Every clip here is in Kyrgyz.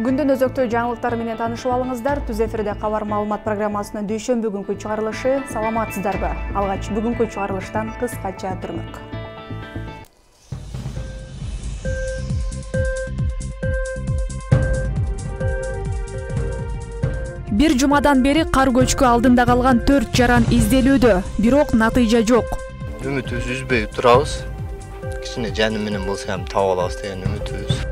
Күндүн өзөктүү жаңылыктары менен таанышып алыңыздар. Түз эфирде кабар маалымат программасынын дүйшөмбү күнкү чыгарылышы. Саламатсыздарбы? Алгач бүгүнкү чыгарылыштан кыскача түрмөк. Бир жумадан бери кар көчкү алдында калган 4 жаран изделүүдө, бирок натыйжа жок. Үмүтүбүз үзбөй турабыз. Кичине жаным менен болсо ham таап алабыз деген үмүтүбүз.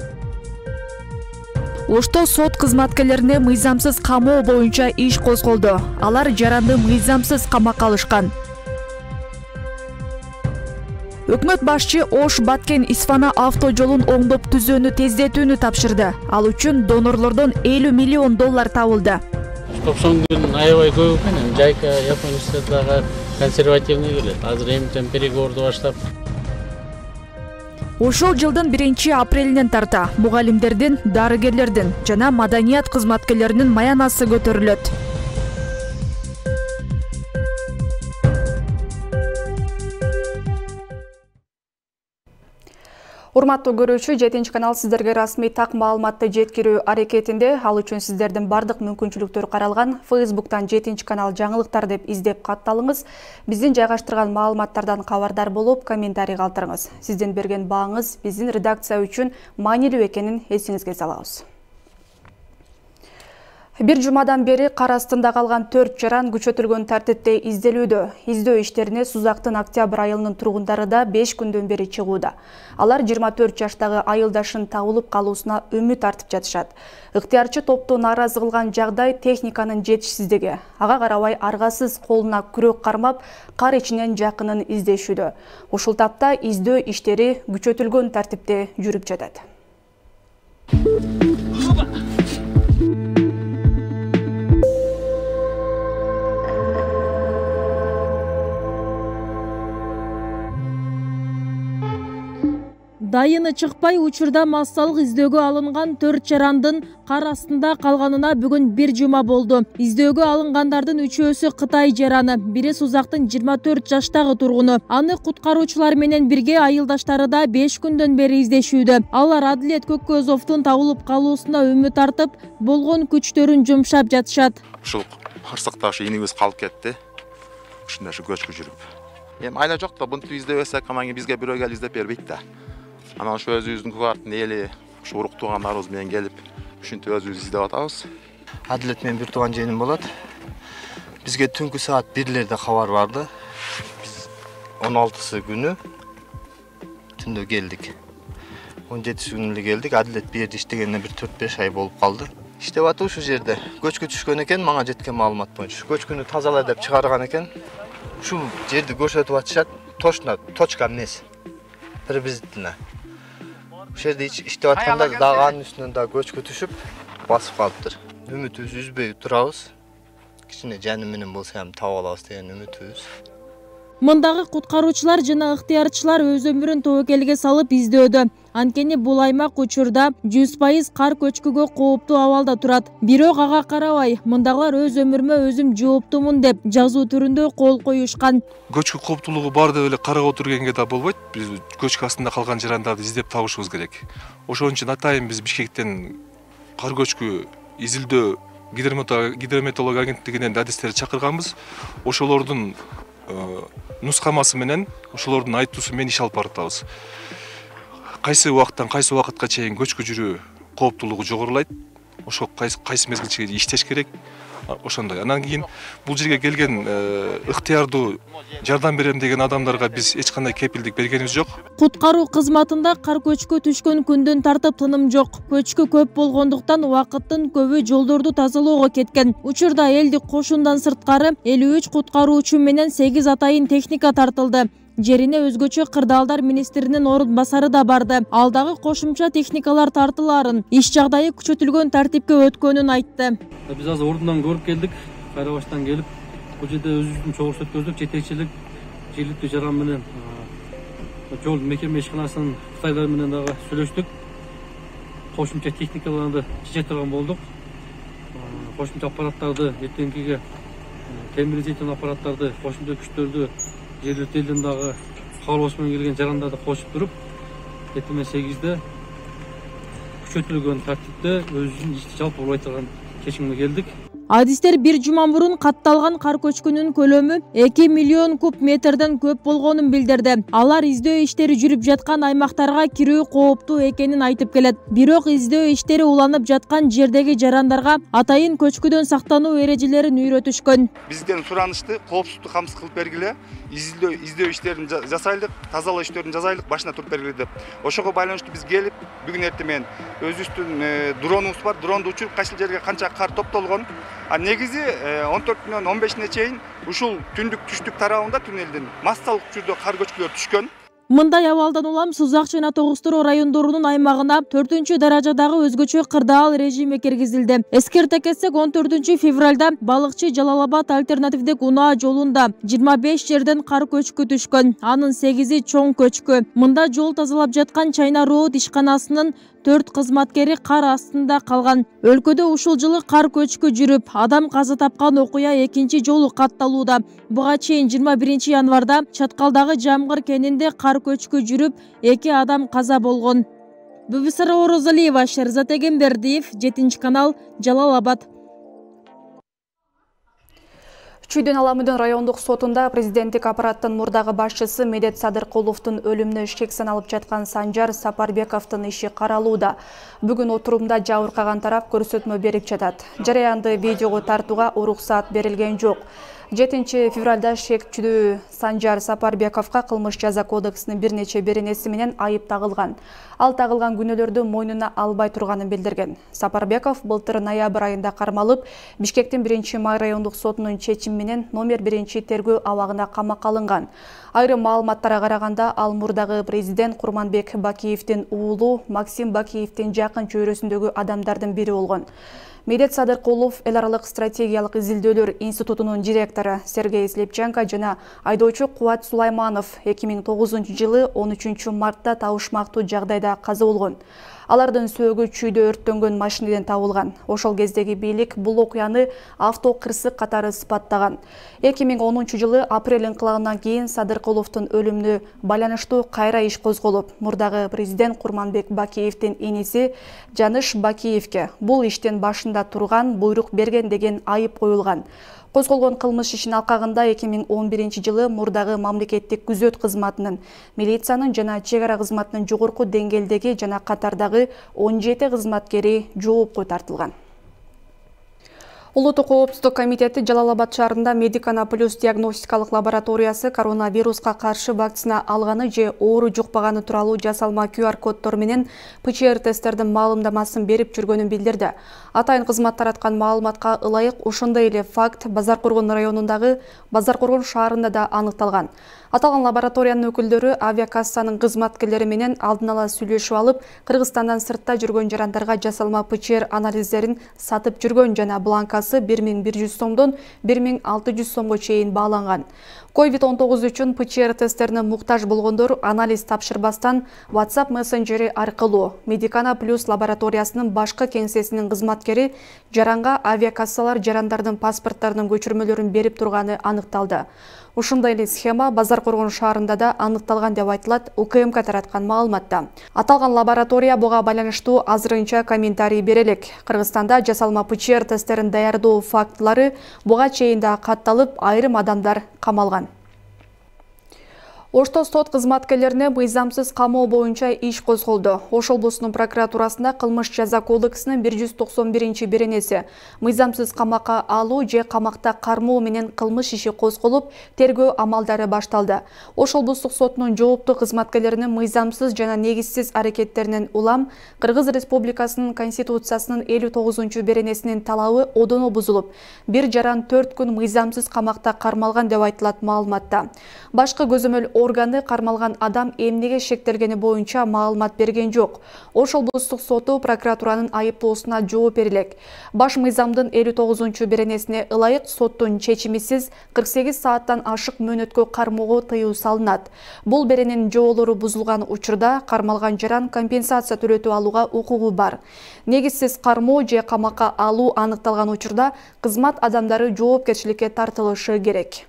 Ошто сот кызматкерлерине мыйзамсыз камоо боюнча иш козголду. Алар жаранды мыйзамсыз камакка алышкан. Өкмөт башчы Ош-Баткен-Исфана авто жолун оңдоп түзүүнү тездетүүнү тапшырды. Ал үчүн донорлордон $50 миллион табылды. 90 күн аябай көп экен. Жайка Япон университетине консервативный келет. Азыр эмтен переговорду баштап. Ошол жылдын 1-апрелинен тарта мугалимдердин, дарыгерлердин жана маданият кызматкерлеринин маянасы көтөрүлөт. Урматтуу көрүүчү, 7-канал сиздерге расмий так маалыматты жеткирүү аракетинде. Ал үчүн сиздердин бардык мүмкүнчүлүктөр каралган. Facebook'тан 7-канал жаңылыктар деп издеп катталыңыз. Биздин жайгаштырган маалыматтардан кабардар болуп, комментарий калтырыңыз. Сиздин берген бааңыз биздин редакция үчүн маанилүү экенин эсиңизге салабыз. Бир жумадан бери кар астында калган 4 жаран күчөтүлгөн тартипте изделүүдө. Издөө иштерине Сузактын октябрь айылынын тургундары да 5 күндөн бери чыгууда. Алар 24 жаштагы айылдашын табылып калуусуна үмүт артып жатышат. Ыктыярчы топту нааразы кылган жагдай техниканын жетишсиздиги. Ага карабай аргасыз колуна күрөк кармап, кар ичинен жакынын издешүүдө. Ушул тапта издөө иштери күчөтүлгөн тартипте жүрүп жатат. Дайыны чыкпай учурда массалык издөөгө алынган 4 жарандын кар астында калганына бүгүн 1 жума болду. Издөөгө алынгандардын 3-өсү Кытай жараны, бири Сузактын 24 жаштагы тургуну. Аны куткаруучулар менен бирге айылдаштары да 5 күндөн бери издешүүдө. Алар Адилет Көккөзовдун табылып калуусуна үмүт артып, болгон күчтөрүн жумшап жатышат. Ушул кырсыкта инибиз калып кетти. Ушундай көчкү жүрүп. Эми айла жок да, бунту издебесек, аман бизге бирөө келип издеп бербейт да. Анан ошо өзүбүздүн кубаттын эли, ушу урук туугандарыбыз менен келип, ушинтип өзүбүз издеп атабыз. Адилет менен бир тууган жыйыным болот. Бизге түнкү саат 1-лерде кабар барды. Биз 16-сы күнү түндө келдик. 17-си күнү эле келдик. Адилет бир жерде иштегенине бир 4-5 ай болуп калды. Иштеп атып ушул жерде. Көчкү түшкөн экен, мага жеткен маалымат боюнча. Көчкүнү тазалай деп чыгарган экен. Ушул жерди көрсөтүп атышат. Точно, точка эмнеси. Приблизительно. Ушул жерде иштеп атканда дагы анын үстүнөн да көчкү түшүп, басып калыптыр. Үмүтүбүз үзбөй турабыз. Кичине жаным менен болсо ham таап алабыз деген үмүтүбүз. Мындагы куткаруучулар жана ыктыярчылар өз өмүрүн тобокелге салып издөөдө. Анткени бул аймак учурда 100% кар көчкүгө кооптуу абалда турат. Бирок ага карабай, мындагылар өз өмүрүмө өзүм жооптумун деп жазуу түрүндө кол коюшкан. Көчкү кооптуулугу бар деп эле карап отургенге да болбойт. Биз көчкү астында калган жарандарды издеп табышыбыз керек. Ошон үчүн атайын биз Бишкектен кар көчкү изилдөө гидрометеорология агенттигинен адистерди чакырганбыз. Ошолордун нускамасы менен, ошолордун айтуусу менен иш алып баратабыз. Кайсы убакыттан кайсы убакытка чейин көчкү жүрүү кооптуулугу жогорулайт. Ошо кайсы мезгилче иштеш керек. Ошондой. Анан кийин бул жерге келген ыктыярдуу жардам берем деген адамдарга биз эч кандай кепилдик бергенибиз жок. Куткаруу кызматында кар көчкү түшкөн күндөн тартып тыным жок. Көчкү көп болгондуктан убакыттын көбү жолдорду тазалоого кеткен. Учурда элдик кошундан сырткары 53 куткаруучу менен 8 атайын техника тартылды. Жерине өзгөчө кырдаалдар министринин орун басары да барды. Ал дагы кошумча техникалар тартылаарын, иш жагдайы күчөтүлгөн тартипке өткөнүн айтты. Биз азыр ордунан көрүп келдик, Карабаштан келип, бул жерде өзүбүздүн чогулуш өткөздүк, жетекчилик жергиликтүү жаран менен жол мекеме ишканасынын Кытайлар менен дагы сүйлөштүк. Кошумча техникаларды чече турган болдук. Кошумча аппараттарды эртеңкиге темир изилтен аппараттарды, кошумча күчтөрдү жергиликтүү элдин дагы каалоосу менен келген жарандарды кошуп туруп, эртең 8-де күчөтүлгөн тартипте өзүнүн ишти жалпылай турган чечимге келдик. Адистер бир жума мурун катталган кар көчкүнүн көлөмү 2 миллион куб метрден көп болгонун билдирди. Алар издөө иштери жүрүп жаткан аймактарга кирүү кооптуу экенин айтып келет. Бирок издөө иштери уланып жаткан жердеги жарандарга атайын көчкүдөн сактануу эрежелерин үйрөтүшкөн. Бизден суранышты коопсуздук камсыз кылып бергиле, издөө иштерин жасайлык, тазалоо иштерин жасайлык, башына туруп бергиле деп. Ошого байланыштуу биз келип, бүгүн эртең менен өзүбүздүн дронубуз бар, дронду учуруп кайсыл жерге канча кар топтолгон. Негизи 14-нөн 15-ине чейин ушул түндүк түштүк тарабында туннелдин массалык түрдө кар көчкүлөр түшкөн. Мындай абалдан улам Сузак жана Тогуз-Туроо райондорунун аймагына 4-даражадагы өзгөчө кырдаал режими киргизилди. Эскерте кетсек, 14 февралда балыкчы Жалал-Абад альтернативдик унаа жолунда 25 жерден кар көчкү түшкөн. Анын 8-и чоң көчкү. Мында жол тазалап жаткан Чайна Роуд ишканасынын 4 кызматкери кар астында калган. Өлкөдө ушул жылы кар көчкү жүрүп, адам каза тапкан окуя экинчи жолу катталууда. Буга чейин 21 январда Чаткалдагы Жамгыр кенинде кар көчкү жүрүп, 2 адам каза болгон. Бүбүсара Орозалиева, Шерзат Эгембердиев, 7-канал, Жалал-Абад. Чүйдөн Аламүдүн райондук сотунда президенттик аппараттын мурдагы башчысы Медет Садыркуловдун өлүмүнө шек саналып жаткан Санжар Сапарбековдун иши каралууда. Бүгүн отурумда жабыркаган тарап көрсөтмө берип жатат. Жараянды видеого тартууга уруксаат берилген жок. 7 февралда шектчүдүү Санжар Сапарбековго кылмыш жаза кодексинин бир нече беренеси менен айып тагылган. Ал тагылган күнөөлөрдү мойнуна албай турганын билдирген. Сапарбеков былтыр ноябрь айында кармалып, Бишкектин 1-май райондук сотунун чечими менен номер 1 тергөө абагына камакка алынган. Айрым маалыматтарга караганда, ал мурдагы президент Курманбек Бакиевдин уулу Максим Бакиевдин жакын чөйрөсүндөгү адамдардын бири болгон. Медет Садыркулов эл аралык стратегиялык изилдөөлөр институтунун директору Сергей Слепченко жана айдоочу Кубат Сулайманов 2009 жылы 13 мартта табышмактуу жагдайда каза болгон. Алардын сөөгү чүйдө өрттөнгөн машинеден табылган. Ошол кездеги бийлик бул окуяны авто кырсык катары сыпаттаган. 2010 жылы апрель инкылабынан кийин Садыркуловдун өлүмүнө байланыштуу кайра иш козголуп, мурдагы президент Курманбек Бакиевдин иниси Жаныш Бакиевге бул иштин башында турган, буйрук берген деген айып коюлган. Козголгон кылмыш ишин алкагында 2011 жылы мурдагы мамлекеттик күзөт кызматынын, милициянын жана чек ара кызматынын жогорку деңгээлдеги жана катардагы 17 кызматкери жоопко тартылган. Улуттук коопсуздук комитети Жалал-Абад шаарында Медикана плюс диагностикалык лабораториясы коронавируска каршы вакцина алганы же оору жукпаганы тууралуу жасалма QR-коддор менен ПЦР тесттердин маалымдамасын берип жүргөнүн билдирди. Атайын кызмат тараткан маалыматка ылайык ошондой эле факт Базаркоргон районундагы Базаркоргон шаарында да аныкталган. Аталган лабораториянын өкүлдөрү авиакассанын кызматкерлери менен алдын ала сүйлөшүп алып, Кыргызстандан сыртта жүргөн жарандарга жасалма ПЦР анализдерин сатып жүргөн жана бланкасы 1100 сомдон 1600 сомго чейин бааланган. COVID-19 үчүн ПЦР тесттерине муктаж болгондор анализ тапшырбастан WhatsApp мессенджери аркылуу Медикана плюс лабораториясынын башкы кеңсесинин кызматкери жаранга авиакассалар жарандардын паспорттарынын көчүрмөлөрүн берип турганы аныкталды. Ушундай эле схема Базаркоргон шаарында да аныкталган деп айтылат УКМК тараткан маалыматта. Аталган лаборатория буга байланыштуу азырынча комментарий бере элек. Кыргызстанда жасалма ПЦР тесттерин даярдоо фактылары буга чейин да катталып, айрым адамдар камалган. Ошто сот кызматкерлерине мыйзамсыз камоо боюнча иш козголду. Ош облусунун прокуратурасында кылмыш жаза кодексинин 191 беренеси мыйзамсыз камакка алуу же камакта кармоо менен кылмыш иши козголуп, тергөө амалдары башталды. Ош облустук сотунун жооптуу кызматкерлеринин мыйзамсыз жана негизсиз аракеттеринен улам Кыргыз Республикасынын Конституциясынын 59 беренесинин талабы одоно бузулуп, бир жаран 4 күн мыйзамсыз камакта кармалган деп айтылат маалыматта. Башкы көзөмөл органы кармалган адам эмнеге шектелгени боюнча маалымат берген жок. Ош облустук соту прокуратуранын айыптоосуна жооп берилек. Баш мыйзамдын 59 беренесине ылайык соттун чечимисиз 48 сааттан ашык мөөнөткө кармоого тыюу салынат. Бул берененин жоолору бузулган учурда кармалган жаран компенсация төлөтүп алууга укугу бар. Негизсиз кармоо же камакка алуу аныкталган учурда кызмат адамдары жоопкерчиликке тартылышы керек.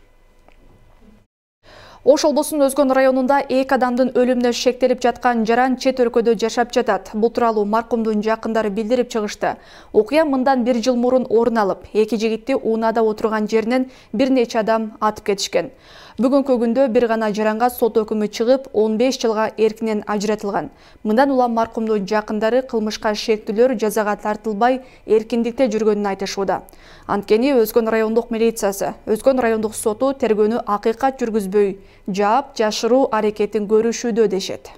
Ош облусунун Өзгөн районунда 2 адамдын өлүмүнө шектелип жаткан жаран чет өлкөдө жашап жатат. Бул тууралуу маркумдун жакындары билдирип чыгышты. Окуя мындан 1 жыл мурун орун алып, 2 жигитти унаада отурган жеринен бир нече адам атып кетишкен. Бүгүнкү күндө бир гана жаранга сот өкүмү чыгып, 15 жылга эркинен ажыратылган. Мындан улам маркумдун жакындары кылмышка шектүүлөр жазага тартылбай эркиндикте жүргөнүн айтышууда. Анткени Өзгөн райондук милициясы, Өзгөн райондук соту тергөөнү акыйкат жүргүзбөй, жаап жашыруу аракетин көрүшүүдө дешет.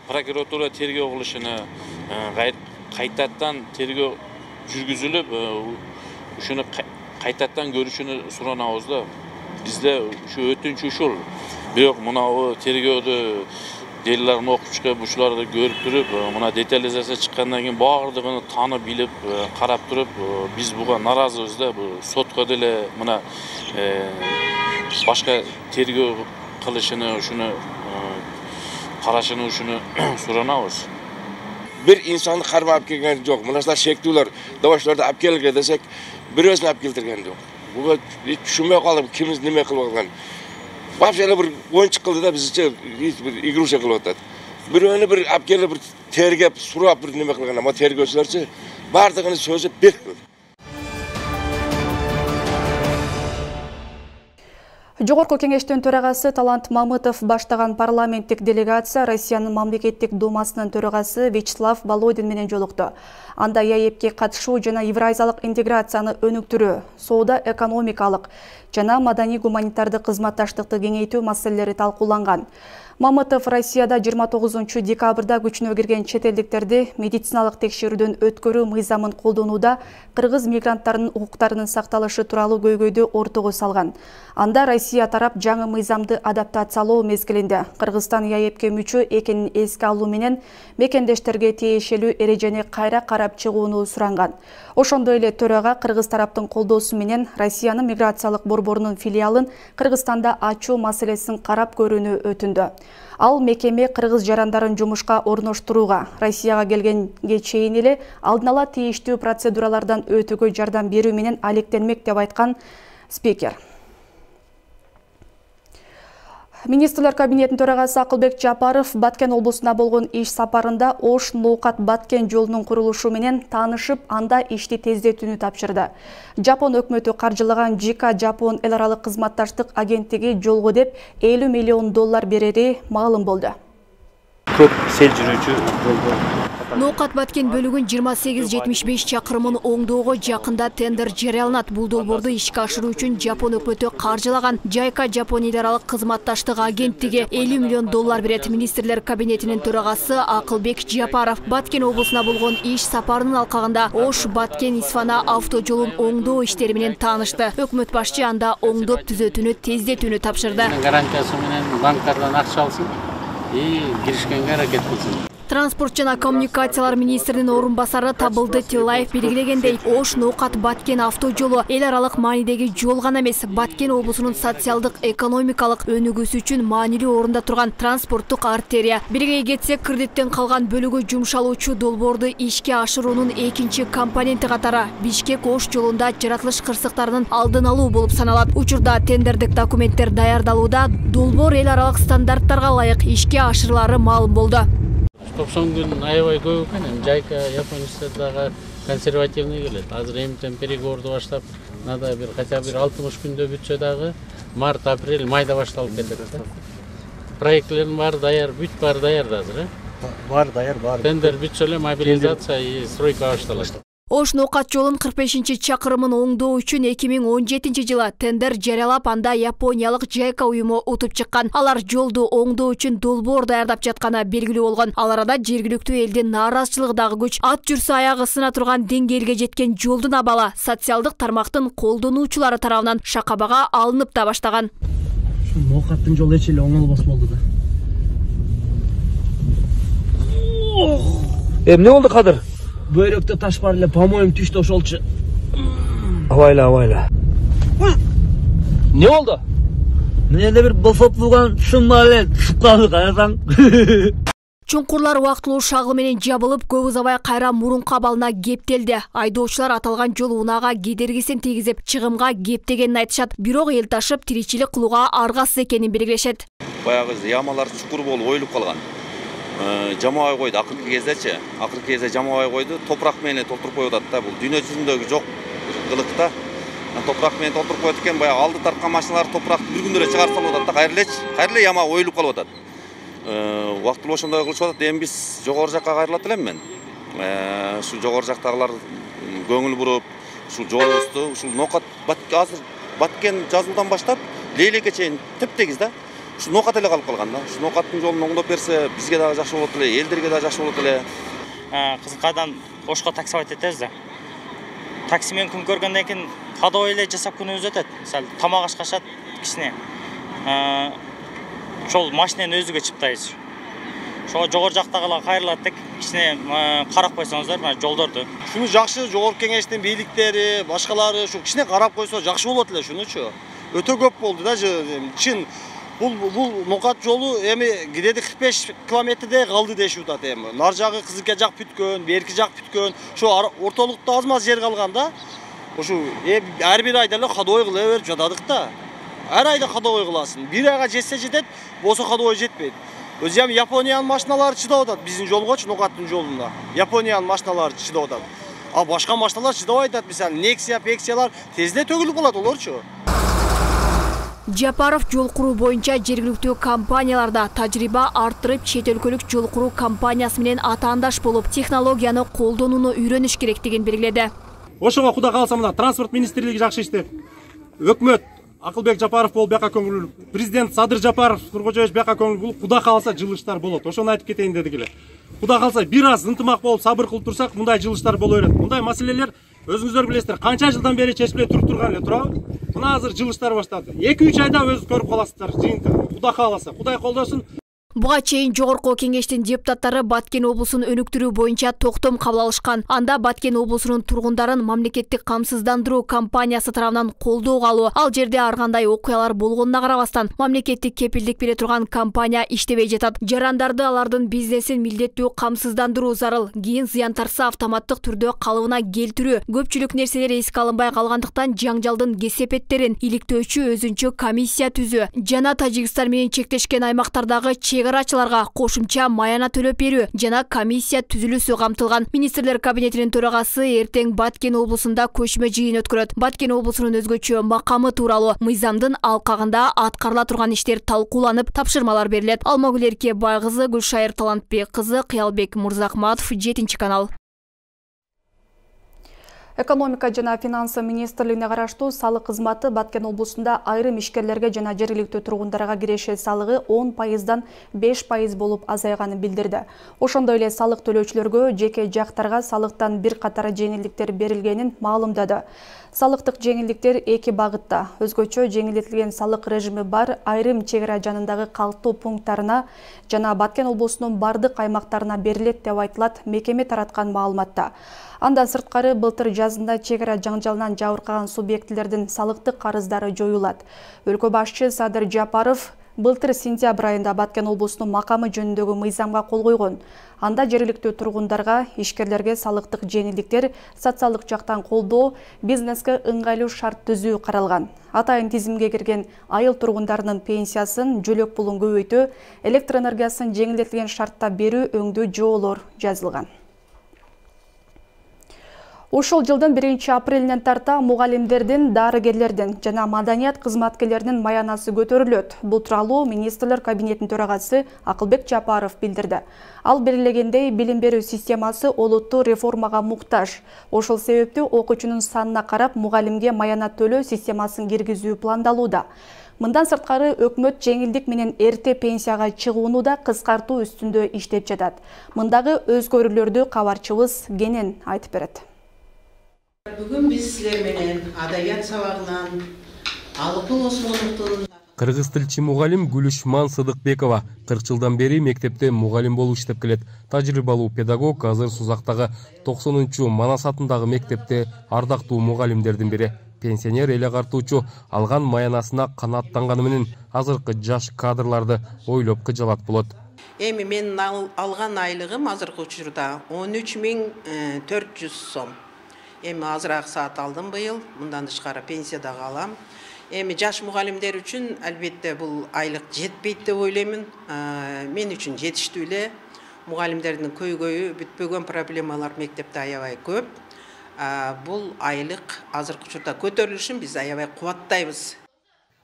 Прокуратура тергөө кылышыны кайтадан тергөө жүргүзүлүп, ушуну кайтадан көрүшүнү суранабыз да. Бизде ушу өтүнч ушул. Бирок мына тергөөдө делилерин окуп чыгып, ушуларды көрүп туруп, мына детализация чыккандан кийин баардыгын таанып билип, карап туруп, биз буга наразыбыз да. Бул сотко деле мына башка тергөө кылышыны, ушуну карашыны ушуну суранабыз. Бир инсанды кармап келген жок. Мынашта шектүүлөр, добошлорду алып келге десек, бирөөсүн алып келтирген жок. Буга түшүнбөй калып, кимиз неме кылып алган. Вообще бир оюнчук кылды да, бизче бир игрушка кылып атат. Бирөөнү бир алып келип, бир тергеп, сурап бир неме кылган, ама тергөөчүлөрчү баардыгын сөзүп берди. Жогорку кеңештин төрагасы Талант Мамытов баштаган парламенттик делегация Россиянын мамлекеттик думасынын төрагасы Вячеслав Володин менен жолукту. Анда ЕАЭПке катышуу жана евразиялык интеграцияны өнүктүрүү, соода экономикалык жана маданий-гуманитардык кызматташтыкты кеңейтүү маселелери талкууланган. Мамытов Россияда 29 декабрда күчүнө кирген чет элдиктерди медициналык текшерүүдөн өткөрүү мыйзамын колдонууда кыргыз мигранттарынын укуктарынын сакталышы тууралуу көйгөйдү ортого салган. Анда Россия тарап жаңы мыйзамды адаптациялоо мезгилинде Кыргызстан ЕАЭПке мүчө экенин эске алуу менен мекендештерге тиешелүү эрежени кайра карап чыгууну суранган. Ошондой эле төрага кыргыз тараптын колдоосу менен Россиянын миграциялык борборунун филиалын Кыргызстанда ачуу маселесин карап көрүүнү өтүндү. Ал мекеме кыргыз жарандарын жумушка орноштурууга, Россияга келгенге чейин эле алдын ала тийиштүү процедуралардан өтүүгө жардам берүү менен алектенмек деп айткан спикер. Министрлер кабинетинин төрагасы Акылбек Жапаров Баткен облусуна болгон иш сапарында Ош Ноокат Баткен жолунун курулушу менен таанышып, анда ишти тездетүүнү тапшырды. Жапон өкмөтү каржылаган JICA Жапон эл аралык кызматташтык агенттиги жолго деп $50 миллион берери маалым болду. Көп сел жүрүүчү жолго Ноокат Баткен бөлүгүн 28-75 чакырымын оңдоого жакында тендер жарыяланат. Бул долбоорду ишке ашыруу үчүн Жапон өкмөтү каржылаган JICA Жапон эл аралык кызматташтык агенттиги $50 миллион берет. Министрлер кабинетинин төрагасы Акылбек Жапаров Баткен облусуна болгон иш сапарынын алкагында Ош Баткен Исфана авто жолун оңдоо иштери менен таанышты. Өкмөт башчы анда оңдоп түзөтүүнү тездетүүнү тапшырды. Гарантиясы менен банктардан акча алсын и киришкенге аракет кылсын. Транспорт жана коммуникациялар министринин орун басары Табылды Тилаев белгилегендей, Ош Ноокат Баткен авто жолу эл аралык маанидеги жол гана эмес, Баткен облусунун социалдык экономикалык өнүгүүсү үчүн маанилүү орунда турган транспорттук артерия. Бирге кетсек, кредиттен калган бөлүгү жумшалуучу долбоорду ишке ашыруунун экинчи компоненти катары Бишкек Ош жолунда жаратылыш кырсыктарынын алдын алуу болуп саналат. Учурда тендердик документтер даярдалууда, долбоор эл аралык стандарттарга ылайык ишке ашырылары маалым болду. 90 күн аябай көп экен. JICA Японияда дагы консервативный келет. Азыр эмтен переговорду баштап, надо бир хотя бир 60 күндө бүтсө дагы март, апрель, майда башталып кетет. Проектлердин баары даяр, бүт баары даяр азыр, бар даяр, бар. Тендер бүтсө эле мобилизация и стройка башталат. Ош Ноокат жолун 45 чакырымын оңдоо үчүн 2017 жылы тендер жарыялап, анда Япониялык JICA уюму утуп чыккан. Алар жолду оңдоо үчүн долбоор даярдап жатканы белгилүү болгон. Ал арада жергиликтүү элдин нааразычылыгы дагы күч. Ат жүрсө аягы сына турган деңгээлге жеткен жолдун абалы социалдык тармактын колдонуучулары тарабынан шакабага алынып да баштаган. Ноокаттын жолу эч эле оңолбос болду да. Эмне болду Кадыр? Бөйрөктө таш бар эле, по-моему, түштү ошолчу. Абайла. Не болду? Мен эле бир босоп турган шумма эле чукканды карасаң. Чуңкурлар убактылуу шагыл менен жабылып, көп узабай кайра мурунку абалына кептелди. Айдоочулар аталган жол унаага кедергисин тийгизип, чыгымга кептегенин айтышат. Бирок эл ташып, тиричилик кылууга аргасыз экенин белгилешет. Баягы ямалар чукур болуп оюлуп калган. Жамабай койду акыркы кезде жамабай койду, топурак менен толтуруп коюп атат да. Бул дүйнө жүзүндөгү жок кылыкта. Топурак менен толтуруп коюп экен, баягы алды тарткан машиналар топуракты бир күндө эле чыгарып салып атат да, кайра эле яма оюлуп калып атат. Убактылуу ошондой кылышып атат. Эми биз жогору жакка кайрылат элем мен. Ушул жогору жактагылар көңүл буруп, ушул жолубузду, ушул Ноокат азыр Баткен жазуудан баштап Лейлекке чейин тептегиз да. Ушул Ноокат эле калып калган да. Ушул Ноокаттын жолун оңдоп берсе, бизге дагы жакшы болот эле, элдерге дагы жакшы болот эле. Кызылкайдан Ошко таксовать этебиз да. Такси менен күн көргөндөн кийин ходовой эле жасап күнүбүз өтөт. Сал тамак ашкашат кичине. Ошол машинени өзүгө чыптайбыз. Ошого жогору жактагылар кайрылат деп кичине карап койсоңуздар, мына жолдорду. Шуну жакшы жогорку кеңештин бийликтери, башкалары ушу кичине карап койсо жакшы болот эле шунучу. Өтө көп болду да, чын. Бул Ноокат жолу эми кидеди 45 километрде калды дешип атат эми. Нар жагы Кызылке жак бүткөн, берки жак бүткөн. Ошо ортолукта аз-маз жер калган да. Ошо ар бир айда эле ходовой кыла берип жатадык да. Ар айда ходовой кыласың. Бир айга жетсе жетет, болсо ходовой жетпейт. Өзү эми Япониянын машиналары чыдап атат биздин жолгочу, Ноокаттын жолунда. Япониянын машиналары чыдап атат. А башка машиналар чыдабай атат, мисалы Nexia, Pexia'лар тезде төгүлүп калат олорчу. Жапаров жол куруу боюнча жергиликтүү компанияларда тажрыйба арттырып, чет өлкөлүк жол куруу компаниясы менен атаандаш болуп, технологияны колдонууну үйрөнүш керектигин белгиледи. Ошого кудай кааласа мына транспорт министрлиги жакшы иштеп, өкмөт Акылбек Жапаров болуп бияка көңүл, президент Садыр Жапаров Нуркожоевич бияка көңүл болуп, кудай кааласа жылыштар болот. Ошону айтып кетейин дедик эле. Кудай кааласа бир аз ынтымак болуп, сабыр кылып турсак, мындай жылыштар боло берет. Мындай маселелер өзүңүздөр билесиздер, канча жылдан бери чечилбей турган эле турабы? Мына азыр жылыштар баштады. 2-3 айда өзү көрүп каласыздар жыйынтыгын. Кудай кааласа, кудай колдосун. Буга чейин жогорку кеңештин депутаттары Баткен облусун өнүктүрүү боюнча токтом кабыл алышкан. Анда Баткен облусунун тургундарын мамлекеттик камсыздандыруу компаниясы тарабынан колдоого алуу, ал жерде ар кандай окуялар болгонуна карабастан, мамлекеттик кепилдик бере турган компания иштебей жатат. Жарандарды алардын бизнесин милдеттүү камсыздандыруу зарыл. Кийин зыян тарса автоматтык түрдө калыбына келтирүү. Көпчүлүк нерселер эске алынбай калгандыктан жаңжалдын кесепеттерин иликтөөчү өзүнчө комиссия түзүү жана Тажикстан менен чектешкен аймактардагы чегарачыларга кошумча маяна төлөп берүү жана комиссия түзүлүүсү камтылган. Министрлер кабинетинин төрагасы эртең Баткен облусунда көчмө жыйын өткөрөт. Баткен облусунун өзгөчө макамы тууралуу мыйзамдын алкагында аткарыла турган иштер талкууланып, тапшырмалар берилет. Алмагүл Эркебай кызы, Гүлшайыр Талантбек кызы, Кыялбек Мурзахматов, 7-канал. Экономика жана финансы министрлигине караштуу салык кызматы Баткен облусунда айрым ишкерлерге жана жергиликтүү тургундарга киреше салыгы 10%дан 5% болуп азайганын билдирди. Ошондой эле салык төлөөчүлөргө жеке жактарга салыктан бир катар жеңилдиктер берилгенин маалымдады. Салыктык жеңилдиктер эки багытта. Өзгөчө жеңилдетилген салык режими бар айрым чегара жанындагы калктуу пункттарына жана Баткен облусунун бардык аймактарына берилет деп айтылат мекеме тараткан маалыматта. Андан сырткары былтыр жазында чегара жаңжалынан жабыркаган субъектилердин салыктык карыздары жоюлат. Өлкө башчы Садыр Жапаров былтыр сентябрь айында Баткен облусунун макамы жөнүндөгү мыйзамга кол койгон. Анда жергиликтүү тургундарга, ишкерлерге салыктык жеңилдиктер, социалдык жактан колдоо, бизнеске ыңгайлуу шарт түзүү каралган. Атайын тизимге кирген айыл тургундарынын пенсиясын, жөлөк пулун көбөйтүү, электр энергиясын жеңилдетилген шартта берүү өңдүү жоолор жазылган. Ушул жылдын 1-апрелинен тарта мугалимдердин, дарыгерлердин жана маданият кызматкерлеринин маянасы көтөрүлөт. Бул тууралуу министрлер кабинетинин төрагасы Акылбек Жапаров билдирди. Ал белгилегендей, билим берүү системасы олуттуу реформага муктаж. Ошол себептүү окуучунун санына карап мугалимге маяна төлөө системасын киргизүү пландалууда. Мындан сырткары өкмөт жеңилдик менен эрте пенсияга чыгууну да кыскартуу үстүндө иштеп жатат. Мындагы өзгөрүүлөрдү кабарчыбыз Кенен айтып берет. Бүгүн биз силер менен адаят сабагынан Алыкул Осмоновдун Кыргыз тилчи мугалим Гүлүшман Сыдыкбекова 40 жылдан бери мектепте мугалим болуп иштеп келет. Тажрыйбалуу педагог азыр Сузактагы 90-чу Манас атындагы мектепте ардактуу мугалимдердин бири. Пенсионер эле картуучу алган маянасына канааттанганы менен азыркы жаш кадрларды ойлоп кыжалат болот. Эми менин алган айлыгым азыркы учурда 13.400 сом. Эми азыраак саат алдым быйыл, мындан тышкары пенсия дагы алам. Эми жаш мугалимдер үчүн албетте бул айлык жетпейт деп ойлоймун. Мен үчүн жетиштүү эле. Мугалимдердин көйгөйү бүтпөгөн проблемалар мектепте аябай көп. Бул айлык азыркы учурда көтөрүлүшүн биз аябай кубаттайбыз.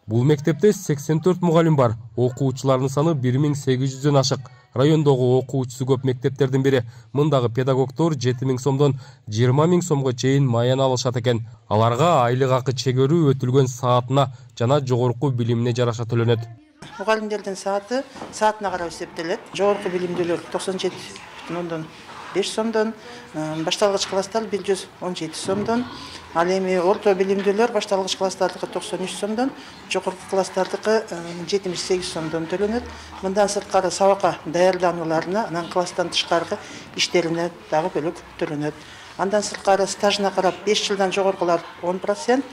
Бул мектепте 84 мугалим бар. Окуучулардын саны 1800дөн ашык. Райондогу окуучусу көп мектептердин бири. Мындагы педагогдор 7000 сомдон 20000 сомго чейин маяна алышат экен. Аларга айлык акы чегөрүү өтүлгөн саатына жана жогорку билимине жараша төлөнөт. Мугалимдердин саатына карап эсептелет. Жогорку билимдүүлөр 97,5 сомдон, башталгыч класстар 117 сомдон, ал эми орто билимдүүлөр башталгыч класстардыкы 93 сомдон, жогорку класстардыкы 78 сомдон төлөнөт. Мындан сырткары сабакка даярданууларына, анан класстан тышкаркы иштерине дагы бөлөк төлөнөт. Андан сырткары стажына карап 5 жылдан жогоркулар 10%,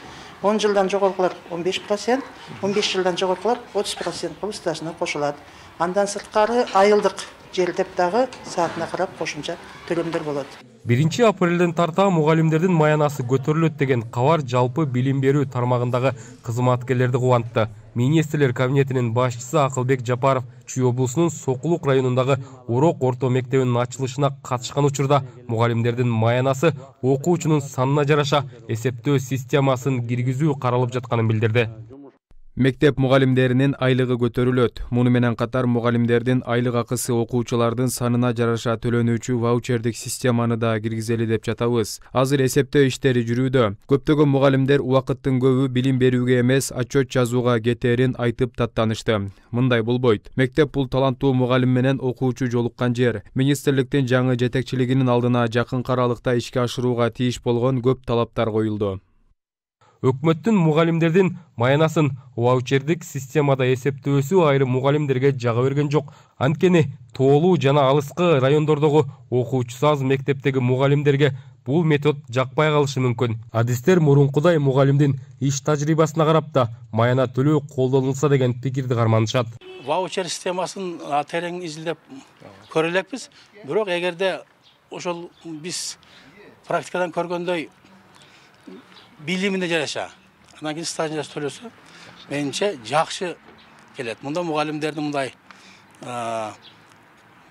10 жылдан жогоркулар 15%, 15 жылдан жогоркулар 30% кылып стажына кошулат. Андан сырткары айылдык жердеп дагы саатына карап кошумча төлөмдөр болот. 1 апрелден тарта мугалимдердин маянасы көтөрүлөт деген кабар жалпы билим берүү тармагындагы кызматкерлерди кубантты. Министрлер кабинетинин башчысы Акылбек Жапаров Чүй облусунун Сокулук районундагы Урок орто мектебинин ачылышына катышкан учурда мугалимдердин маянасы окуучунун санына жараша эсептөө системасын киргизүү каралып жатканын билдирди. Мектеп мугалимдеринин айлыгы көтөрүлөт. Муну менен катар мугалимдердин айлык акысы окуучулардын санына жараша төлөнүүчү ваучердик системаны да киргизели деп жатабыз. Азыр эсептөө иштери жүрүүдө. Көптөгөн мугалимдер убакыттын көбү билим берүүгө эмес, отчет жазууга кетээрин айтып таттанышты. Мындай болбойт. Мектеп бул таланттуу мугалим менен окуучу жолуккан жер. Министрликтин жаңы жетекчилигинин алдына жакынкы аралыкта ишке ашырууга тийиш болгон көп талаптар коюлду. Өкмөттүн мугалимдердин маянасын ваучердик системада эсептөөсү айрым мугалимдерге жага берген жок. Анткени тоолуу жана алыскы райондордогу окуучусу аз мектептеги мугалимдерге бул метод жакпай калышы мүмкүн. Адистер мурункудай мугалимдин иш тажрыйбасына карап да маяна төлөө колдонулса деген пикирди карманышат. Ваучер системасын терең изилдеп көрө элекпиз. Бирок эгерде ошол биз практикадан көргөндөй билимине жараша, анан кийин стажына төлөсө, менимче жакшы келет. Мында мугалимдерди мындай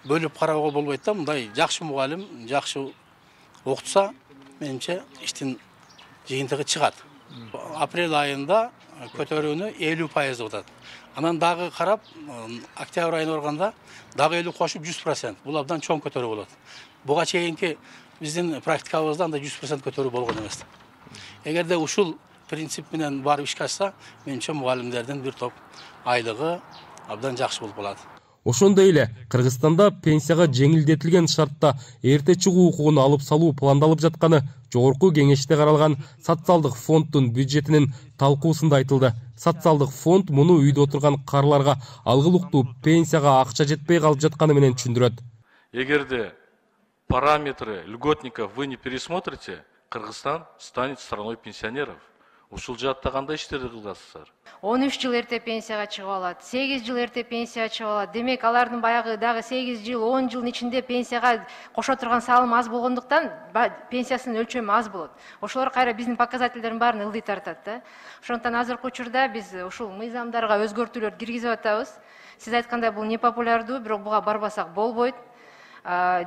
бөлүп кароого болбойт да, мындай жакшы мугалим, жакшы окутса, менимче иштин жыйынтыгы чыгат. Апрель айында көтөрүүнү 50% болот. Анан дагы карап, октябрь айына барганда дагы 50 кошуп 100%. Бул абдан чоң көтөрүү болот. Буга чейинки биздин практикабызда анда 100% көтөрүү болгон эмес. Эгерде ушул принцип менен барып ишке ашса, менимче мугалимдердин бир топ айлыгы абдан жакшы болуп калат. Ошондой эле Кыргызстанда пенсияга жеңилдетилген шартта эрте чыгуу укугун алып салуу пландалып жатканы жогорку кеңеште каралган социалдык фонддун бюджетинин талкуусунда айтылды. Социалдык фонд муну үйдө отурган каарыларга алгылыктуу пенсияга акча жетпей калып жатканы менен түшүндүрөт. Эгерде параметры льготников вы не пересмотрите, Кыргызстан станет страной пенсионеров. Ушул жаатта кандай иштерди кыласыздар? 13 жыл эрте пенсияга чыгып алат, 8 жыл эрте пенсияга чыгып алат. Демек, алардын баягы дагы 8 жыл, 10 жылдын ичинде пенсияга кошо турган салым аз болгондуктан пенсиясынын өлчөмү аз болот. Ошолор кайра биздин показательдердин баарын ылдый тартат да. Ошондуктан азыркы учурда биз ушул мыйзамдарга өзгөртүүлөр киргизип атабыз. Сиз айткандай бул непопулярдуу, бирок буга барбасак болбойт.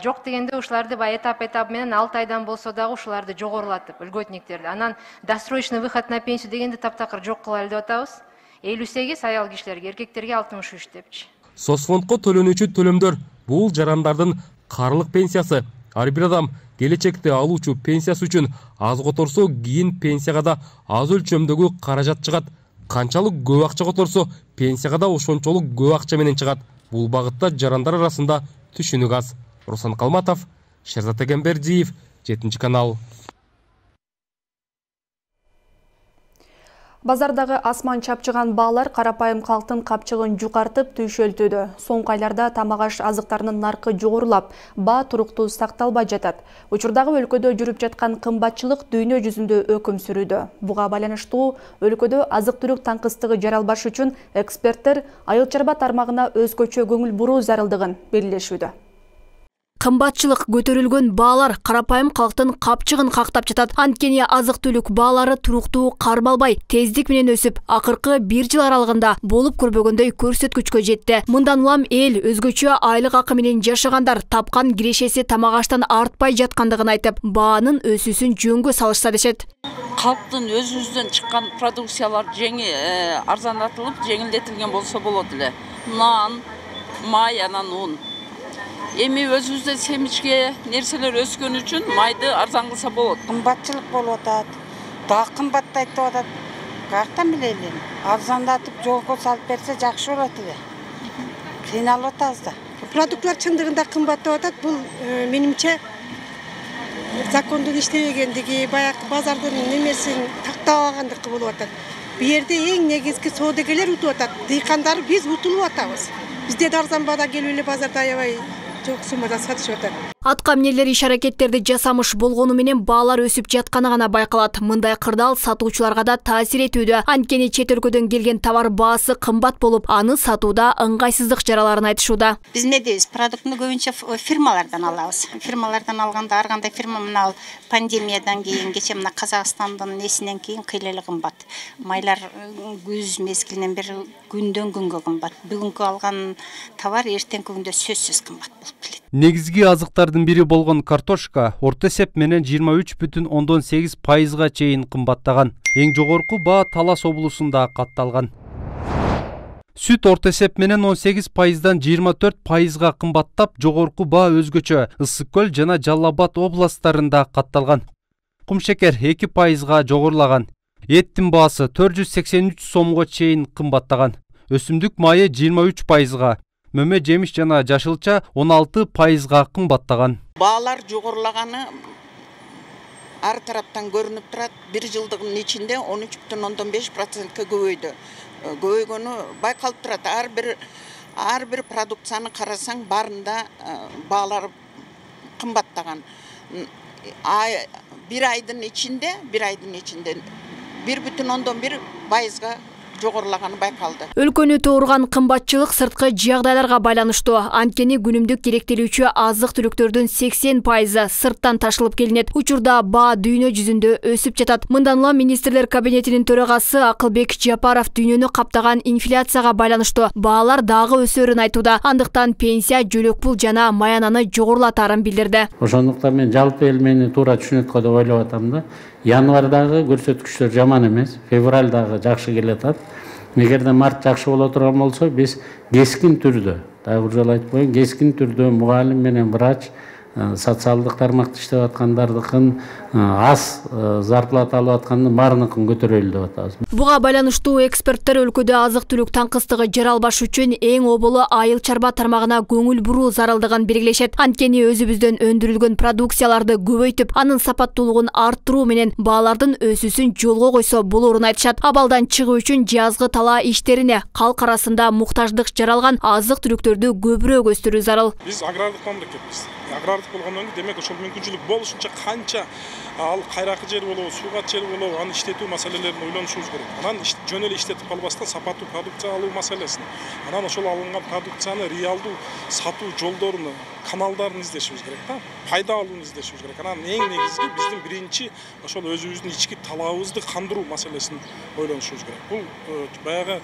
Жок дегенде ушуларды этап менен 6 айдан болсо дагы ушуларды жогорулатып, льготниктерди. Анан досрочный выход на пенсию дегенди таптакыр жок кылалы деп атабыз. 58 аял кишилерге, эркектерге 63 депчи. Соцфондко төлөнүүчү төлөмдөр бул жарандардын каарылык пенсиясы. Ар бир адам келечекте алуучу пенсиясы үчүн аз которсо, кийин пенсияга да аз өлчөмдөгү каражат чыгат. Канчалык көп акча которсо, пенсияга да ошончолук көп акча менен чыгат. Бул багытта жарандар арасында түшүнүк аз. Руслан Калматов, Шерзат Эгембердиев, 7 канал. Базардагы асман чапчыган баалар карапайым калктын капчыгын жукартып түйшөлтүүдө. Соңку айларда тамак аш азыктарынын наркы жогорулап, баа туруктуу сакталбай жатат. Учурдагы өлкөдө жүрүп жаткан кымбатчылык дүйнө жүзүндө өкүм сүрүүдө. Буга байланыштуу өлкөдө азык-түлүк таңкыстыгы жаралбаш үчүн эксперттер айыл чарба тармагына өзгөчө көңүл буруу зарылдыгын белгилешүүдө. Кымбатчылык көтөрүлгөн баалар карапайым калктын капчыгын кактап жатат. Анткени азык-түлүк баалары туруктуу кармалбай, тездик менен өсүп, акыркы 1 жыл аралыгында болуп көрбөгөндөй көрсөткүчкө жетти. Мындан улам эл өзгөчө айлык акы менен жашагандар тапкан кирешеси тамак аштан артпай жаткандыгын айтып, баанын өсүүсүн жөнгө салышса дешет. Калктын өзүбүздөн чыккан продукциялар арзандатылып, жеңилдетилген болсо болот эле. Нан, май, анан ун. Эми өзүбүздө семичке нерселер өскөн үчүн майды арзан кылса болот. Кымбатчылык болуп атат. Дагы кымбаттайт деп атат. Каяктан билели? Арзандатып жолго салып берсе жакшы болот эле. Кыйналып атабыз да. Продуктлар чындыгында кымбаттап атат. Бул менимче закондун иштебегендиги, баягы базардын немесин тактабагандыгы болуп атат. Бу жерде эң негизги соодагерлер утуп атат. Дыйкандар биз утулуп атабыз. Бизде арзан баада келип эле базарда аябай жок суммада сатышып атат. Атка эмнелер иш-аракеттерди жасамыш болгону менен баалар өсүп жатканы гана байкалат. Мындай кырдаал сатуучуларга да таасир этүүдө. Анткени чет өлкөдөн келген товар баасы кымбат болуп, аны сатууда ыңгайсыздык жараларын айтышууда. Биз эмне дейбиз? Продуктуну көбүнчө фирмалардан алабыз. Фирмалардан алганда ар кандай фирма мына пандемиядан кийин, кече мына Казакстандын несинен кийин кыйла эле кымбат. Майлар күз мезгилинен бери күндөн күнгө кымбат. Бүгүнкү алган товар эртеңки күндө сөзсүз кымбат болуп келет. Негизги азыктардын бири болгон картошка орто эсеп менен 23,8%га чейин кымбаттаган. Эң жогорку баа Талас облусунда катталган. Сүт орто эсеп менен 18%дан 24%га кымбаттап, жогорку баа өзгөчө Ысык көл жана Жалал Абад областарында катталган. Кумшекер 2%га жогорулаган. Эттин баасы 483 сомго чейин кымбаттаган. Өсүмдүк майы 23%га. Мөмө жемиш жана жашылча 16%га кымбаттаган. Баалар жогорулаганы ар тараптан көрүнүп турат. 1 жылдыгын ичинде 13,5%га көбөйдү. Көбөйгөнү байкалып турат. Ар бир продукцияны карасаң, баарында баалар кымбаттаган. Bir айдын ичинде 1,1%га жогорулаганы байкалды. Өлкөнү тоорган кымбатчылык сырткы жагдайларга байланыштуу. Анткени күнүмдүк керектелүүчү азык-түлүктөрдүн 80% сырттан ташылып келинет. Учурда баа дүйнө жүзүндө өсүп жатат. Мындан улам министрлер кабинетинин төрагасы Акылбек Жапаров дүйнөнү каптаган инфляцияга байланыштуу баалар дагы өсөрүн айтууда. Андыктан пенсия, жөлөк пул жана маянаны жогорулатарын билдирди. Ошондуктан мен жалпы эл мени туура түшүнөт го деп ойлоп атам да. Январдагы көрсөткүчтөр жаман эмес, февралдагы жакшы келатат. Эгерде март жакшы боло турган болсо, биз кескин түрдө, дагы бир жолу айтып коеюн, кескин түрдө мугалим менен врач, социалдык тармакта иштеп аткандардыкын аз зарплата алып аткандын баарыныкын көтөрөлү деп атабыз. Буга байланыштуу эксперттер өлкөдө азык-түлүк таңкыстыгы жаралбаш үчүн эң оболу айыл чарба тармагына көңүл буруу зарылдыгын белгилешет. Анткени өзүбүздөн өндүрүлгөн продукцияларды көбөйтүп, анын сапаттуулугун арттыруу менен баалардын өсүүсүн жолго койсо болорун айтышат. Абалдан чыгуу үчүн жазгы талаа иштерине, калк арасында муктаждык жаралган азык-түлүктөрдү көбүрөөк өстүрүү зарыл. Биз агрардык мамлекетпиз. Агрардык болгондон кийин демек ошол мүмкүнчүлүк болушунча канча ал кайракы жер болобу, суугат жер болобу, аны иштетүү маселелерин ойлонушубуз керек. Анан жөн эле иштетип калбастан сапаттуу продукция алуу маселесин, анан ошол алынган продукцияны реалдуу сатуу жолдорун, каналдарын издешибиз керек да. Пайда алууну издешибиз керек. Анан эң негизги биздин биринчи ошол өзүбүздүн ички талабыбызды кандыруу маселесин ойлонушубуз керек. Бул баягы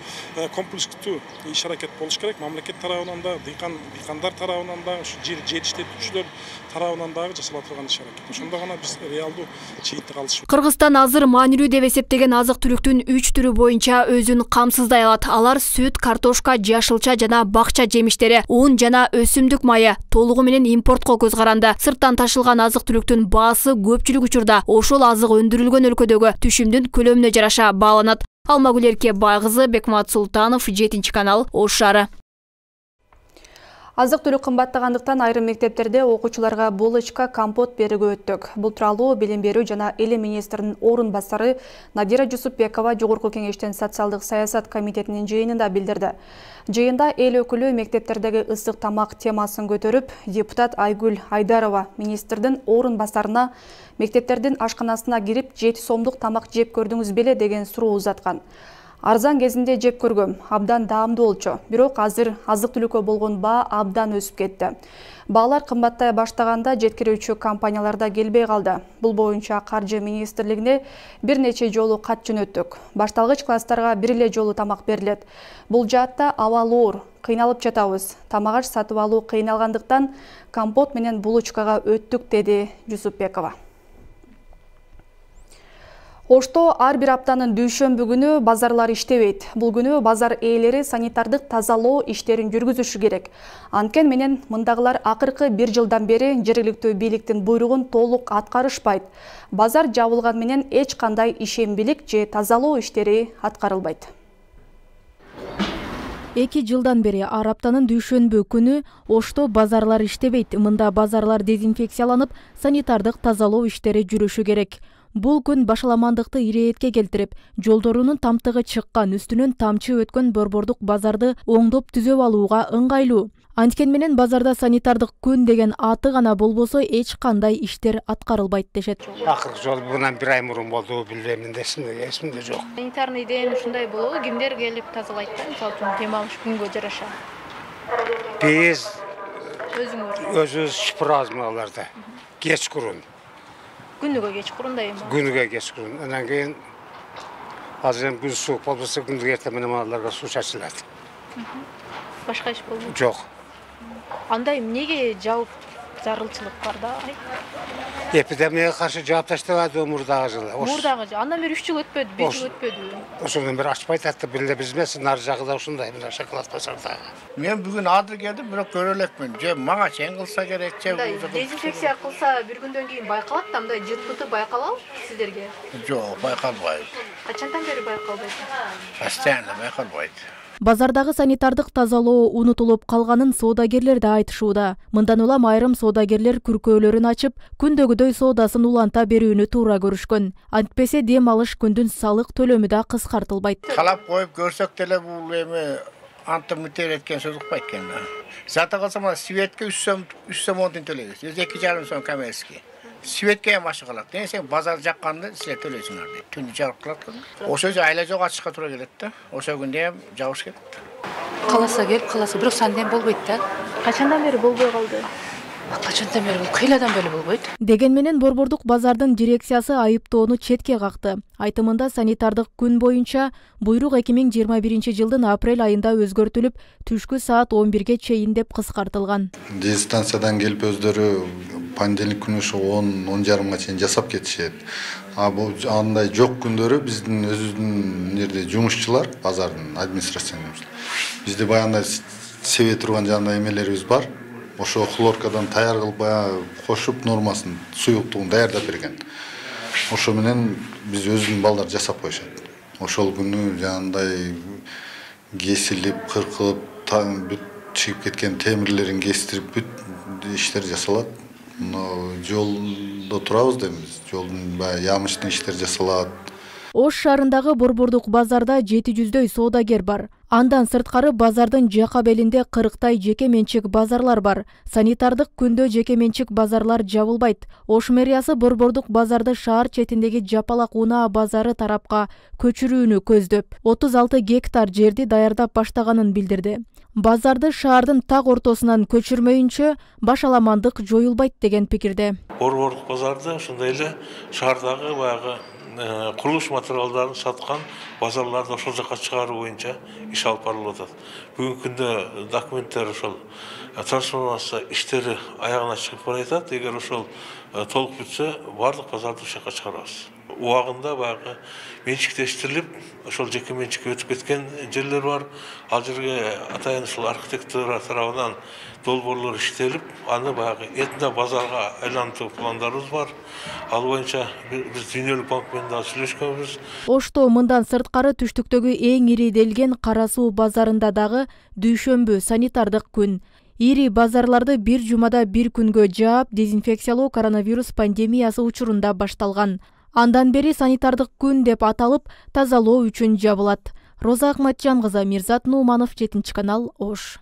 комплекстүү иш-аракет болуш керек. Мамлекет тарабынан да, дыйкандар тарабынан да, жер иштетүүчүлөр тарабынан дагы жасала турган иш-аракет. Ошондо гана биз реалдуу чыйынтык алышыбыз. Кыргызстан азыр маанилүү деп эсептеген азык-түлүктүн 3 түрү боюнча өзүн камсыздай алат. Алар сүт, картошка, жашылча жана бакча жемиштери, ун жана өсүмдүк майы толугу менен импортко көз каранды. Сырттан ташылган азык-түлүктүн баасы көпчүлүк учурда ошол азык өндүрүлгөн өлкөдөгү түшүмдүн көлөмүнө жараша бааланат. Алмагүл Эркебай кызы, Бекмат Султанов, 7 канал, Ош шаары. Азык-түлүк кымбаттагандыктан айрым мектептерде окуучуларга булочка, компот берүүгө өттүк. Бул тууралуу Билим берүү жана Эле министринин орун басары Надира Жусупбекова Жогорку кеңештин социалдык саясат комитетинин жыйынында билдирди. Жыйында эл өкүлү мектептердеги ысык тамак темасын көтөрүп, депутат Айгүл Айдарова министрдин орун басарына мектептердин ашканасына кирип 7 сомдук тамак жеп көрдүңүз беле деген суроо узаткан. Арзан кезинде жеп көргөм, абдан даамдуу болчу. Бирок азыр азык-түлүккө болгон баа абдан өсүп кетти. Баалар кымбаттай баштаганда жеткирүүчү компаниялар да келбей калды. Бул боюнча Каржы министрлигине бир нече жолу кат жөнөттүк. Башталгыч класстарга бир эле жолу тамак берилет. Бул жаатта абал оор, кыйналып жатабыз. Тамак аш сатып алуу кыйналгандыктан компот менен булочкага өттүк, деди Жусупбекова. Ошто ар бир аптанын дүйшөмбү күнү базарлар иштебейт. Бул күнү базар ээлери санитардык тазалоо иштерин жүргүзүшү керек. Анткени менен мындагылар акыркы 1 жылдан бери жергиликтүү бийликтин буйругун толук аткарышпайт. Базар жабылган менен эч кандай ишембилик же тазалоо иштери аткарылбайт. 2 жылдан бери ар аптанын дүйшөмбү күнү Ошто базарлар иштебейт. Мында базарлар дезинфекцияланып, санитардык тазалоо иштери жүрүшү керек. Бул күн башаламандыкты ирээтке келтирип, жолдорунун тамтыгы чыккан, үстүнөн тамчы өткөн борбордук базарды оңдоп түзөп алууга ыңгайлуу. Анткени менен базарда санитардык күн деген аты гана болбосо эч кандай иштер аткарылбайт дешет. Акыркы жолу мындан 1 ай мурун болду, билбейм, эсимде жок. Санитарный ден ушундай болобу, кимдер келип тазалайт да, мисалы үчүн дем алыш күнгө жараша? Биз өзүбүз шыпырабыз аларда. Кечкурун. Күнүгө кечкурун да эми. Күнүгө кечкурун. Андан кийин азыр эми күн суук болбосо күндүк эртең менен аларга суу чачылат. Башка иш болбойт? Жок. Андай эмнеге жабып зарылчылык бар да? Эпидемияга каршы жаап таштабады мурдагы жылы. Мурдагы жылы. Андан бери 3 жыл өтпөдү, 5 жыл өтпөдү. Ошондон бери ачпайт атты, бир биз эмес, нары жагы да ушундай, мына шоколад базардагы. Мен бүгүн азыр келдим, бирок көрө элекмин. Же мага чейин кылса керек, же дезинфекция кылса бир күндөн кийин байкалат да, мындай жыт-пыты байкалабы сиздерге? Жок, байкалбайт. Качандан бери байкалбайт? Постоянно байкалбайт. Базардагы санитардык тазалоо унутулуп калганын соодагерлер да айтышууда. Мындан улам айрым соодагерлер күркөөлөрүн ачып, күндөгүдөй соодасын уланта берүүнү туура көрүшкөн. Антпесе дем алыш күндүн салык төлөмү да кыскартылбайт. Талап коюп көрсөк деле бул эми антымытер эткен сөз укпайт экен. Зата калса мына светке 3 сом 10 тиын төлөйбүз. 2,5 сом коммерческий. Светке эми ашык калат. Сен базар жакканды силер төлөйсүңөр дейт. Түндү жарык кылат. Ошо айла жок ачышка туура келет да. Ошо күндө эми жабыш кетти. Каласа келип каласа, бирок санден болбойт да. Качандан бери болбой калды? Качандан бери кыйладан бери болбойт. Деген менен борбордук базардын дирекциясы айыптоону четке какты. Айтымында санитардык күн боюнча буйрук 2021 жылдын апрель айында өзгөртүлүп, түшкү саат 11ге чейин деп кыскартылган. Дистанциядан келип өздөрү понедельник күнү ошо 10:30га чейин жасап кетишет. Бул андай жок күндөрү биздин өзүбүздүн жерде жумушчулар, базардын администрациянын бизде баягындай себе турган жандай эмелерибиз бар. Ошо хлоркадан таяр кылып баягы кошуп нормасын, суюктугун даярдап берген. Ошо менен биз өзүбүздүн балдар жасап коюшат. Ошол күнү жанагындай кесилип, кыркылып, бүт чыгып кеткен темирлерин кестирип, бүт иштер жасалат. Жолдо турабыз дейбиз. Жолдун баягы ямычный иштер жасалат. Ош шаарындагы борбордук базарда 700дөй соодагер бар. Андан сырткары базардын жака белинде 40тай жеке менчик базарлар бар. Санитардык күндө жеке менчик базарлар жабылбайт. Ош мэриясы борбордук базарды шаар четиндеги Жапалак унаа базары тарапка көчүрүүнү көздөп, 36 гектар жерди даярдап баштаганын билдирди. Базарды шаардын так ортосунан көчүрмөйүнчө башаламандык жоюлбайт деген пикирде. Борбордук базарды ошондой эле шаардагы баягы курулуш материалдарын саткан базарларды ошол жака чыгаруу боюнча иш алып барылып атат. Бүгүнкү күндө документтер ошол трансформация иштери аягына чыгып баратат. Эгер ошол толук бүтсө, бардык базарды ошол жака чыгарабыз. Убагында баягы менчиктештирилип, ошол жеке менчикке өтүп кеткен жерлер бар. Ал жерге атайын ушул архитектура тарабынан долбоорлор иштелип, аны баягы этно базарга айлантуу пландарыбыз бар. Ал боюнча биз Дүйнөлүк банк менен да сүйлөшкөнбүз. Ошто мындан сырткары түштүктөгү эң ири делген Кара суу базарында дагы дүйшөмбү санитардык күн. Ири базарларды бир жумада бир күнгө жаап, дезинфекциялоо коронавирус пандемиясы учурунда башталган. Андан бери санитардык күн деп аталып, тазалоо үчүн жабылат. Роза Акматжан кызы, Мирзат Нууманов, 7 канал, Ош.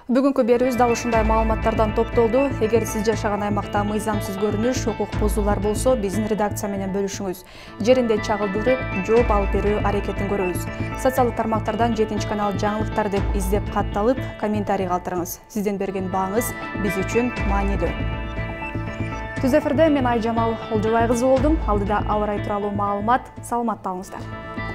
Бүгүнкү берүүбүз дал ушундай маалыматтардан топтолду. Эгер сиз жашаган аймакта мыйзамсыз көрүнүш, укук бузуулар болсо, биздин редакция менен бөлүшүңүз. Жеринде чагылдырып, жооп алып берүү аракетин көрөбүз. Социалдык тармактардан 7 канал жаңылыктар деп издеп катталып, комментарий калтырыңыз. Сиздин берген бааңыз биз үчүн маанилүү. Түз эфирде мен Айжамал Олжобай кызы болдум. Алдыда аба ырайы тууралуу маалымат. Саламатта болуңуздар.